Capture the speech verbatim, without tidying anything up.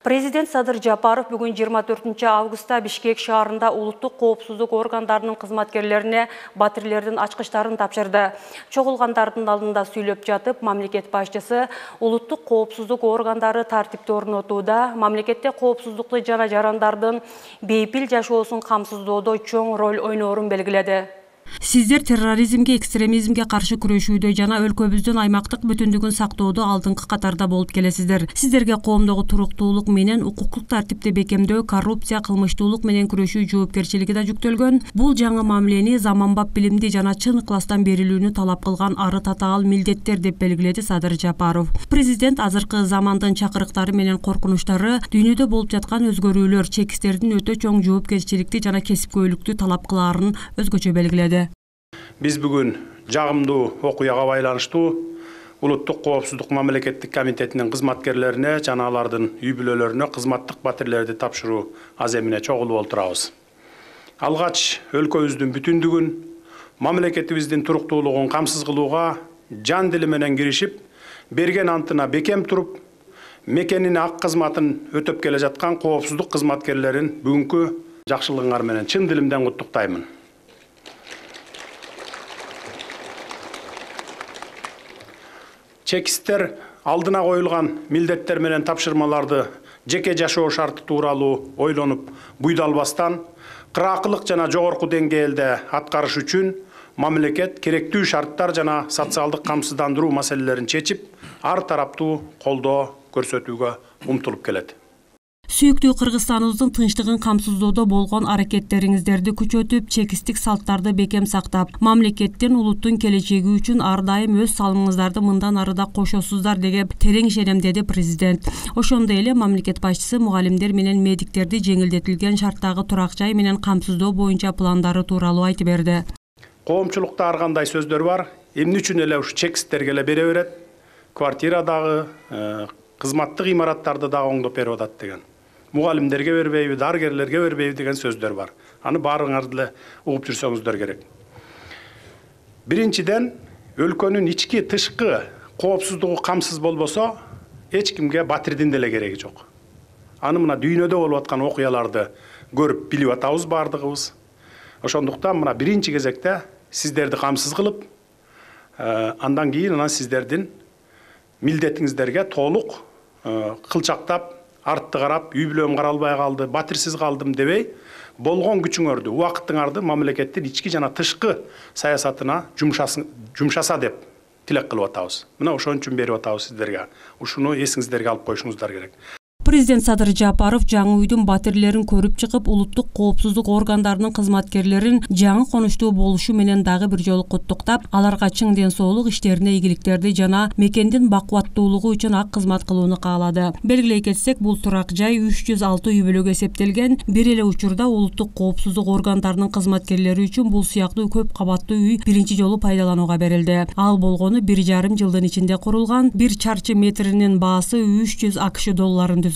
Президент Садыр Жапаров бүгүн жыйырма төртүнчү августта Бишкек шаарында улуттук коопсуздук органдарынын кызматкерлерине батирлердин ачкычтарын тапшырды. Чогулгандардын алдында сүйлөп жатып, мамлекет башчысы улуттук коопсуздук органдары тартипти орнотууда, мамлекетте коопсуздукту жана жарандардын бейпил жашоосун камсыздоодо чоң роль ойноорун белгиледи. Сиздер терроризмге, экстремизмге каршы күрөшүүдө жана өлкөбүздүн аймактык бүтүндүгүн сактоодо алдыңкы катарда болуп келесиздер. Сиздерге коомдогу туруктуулук менен укуктук тартипти бекемдөө, коррупция, кылмыштуулук менен күрөшүү жоопкерчилиги да жүктөлгөн. Бул жаңы мамилени заманбап билимди жана чын ыкыластан берилүүнү талап кылган ары татаал милдеттер деп белгиледи Садыр Жапаров. Президент азыркы замандын чакырыктары менен коркунучтары, дүйнөдө болуп жаткан өзгөрүүлөр чекистердин өтө чоң жоопкерчиликти жана кесипкөйлүктү талап кылаарын өзгөчө белгиледи. Биз бүгүн жагымдуу окуяга байланыштуу улуттук коопсуздук мамлекеттик комитетинин кызматкерлерине жана алардын үй бүлөлөрүнө кызматтык батирлерди тапшыруу аземине чогулуп отурабыз. Алгач өлкөбүздүн бүтүндүгүн, мамлекетибиздин туруктуулугун камсыз кылууга жан дили менен киришип, берген антына бекем туруп, мекенин ак кызматын өтөп келе жаткан коопсуздук кызматкерлерин бүгүнкү жакшылыгыңар менен чын дилимден куттуктаймын. Чекисттер алдына коюлган милдеттер менен тапшырмаларды жеке жашоо шарты тууралуу ойлонуп буйдалбастан, кыраакылык жана жогорку деңгээлде аткарыш үчүн мамлекет керектүү шарттар жана социалдык камсыздандыруу маселелерин чечип, ар тараптуу колдоо көрсөтүүгө умтулуп келет. Сүйүктүү Кыргызстаныбыздын тынчтыгын камсыздоодо болгон аракеттериңиздерди күчөтүп, чекистик салттарды бекем сактап, мамлекеттин, улуттун келечеги үчүн ар дайым өз салымыңыздарды мындан ары да кошосуздар деген терең ишенем, деди президент. Ошондой эле мамлекет башчысы мугалимдер менен медиктерди жеңилдетилген шарттагы турак жай менен камсыздоо боюнча пландары тууралуу айтып берди. Коомчулукта ар кандай сөздөр бар, эмне үчүн эле ушу чекисттерге эле бере берет, квартирадагы, кызматтык имараттарды дагы оңдоп берип атат деген. Мугалимдерге бербейби, дарыгерлерге бербейби деген сөздөр бар. Аны баарыңарды эле угуп жүрсөңүздөр керек. Биринчиден, өлкөнүн ички тышкы коопсуздугу камсыз болбосо, эч кимге батирдин деле кереги жок. Аны мына дүйнөдө болуп аткан окуяларды көрүп билип атабыз бардыгыбыз. Ошондуктан мына биринчи кезекте сиздерди камсыз кылып, андан кийин анан сиздердин милдетиңиздерге толук кылчактап, артты карап, үй бүлөм каралбай калды, батирсиз калдым дебей, болгон күчүңөрдү, убакытыңарды мамлекеттин ички жана тышкы саясатына жумшаса деп тилек кылып атабыз. Мына ошон үчүн берип атабыз сиздерге. Ушуну эсиңиздерге алып коюшуңуздар керек. Президент Садыр Жапаров жаңы үйдүн батирлерин көрүп чыгып, улуттук коопсуздук органдарынын кызматкерлерин жаңы конуштуу болушу менен дагы бир жолу куттуктап, аларга чың ден соолук, иштерине ийгиликтерди жана мекендин бакубаттуулугу үчүн ак кызмат кылууну каалады. Белгилей кетсек, бул турак жай үч жүз алты үй бүлөгө эсептелген. Бир эле учурда улуттук коопсуздук органдарынын кызматкерлери үчүн бул сыяктуу көп кабаттуу үй биринчи жолу пайдаланууга берилди. Ал болгону бир жарым жылдын ичинде курулган, бир чарчы метринин баасы үч жүз акш долларын түзгөн.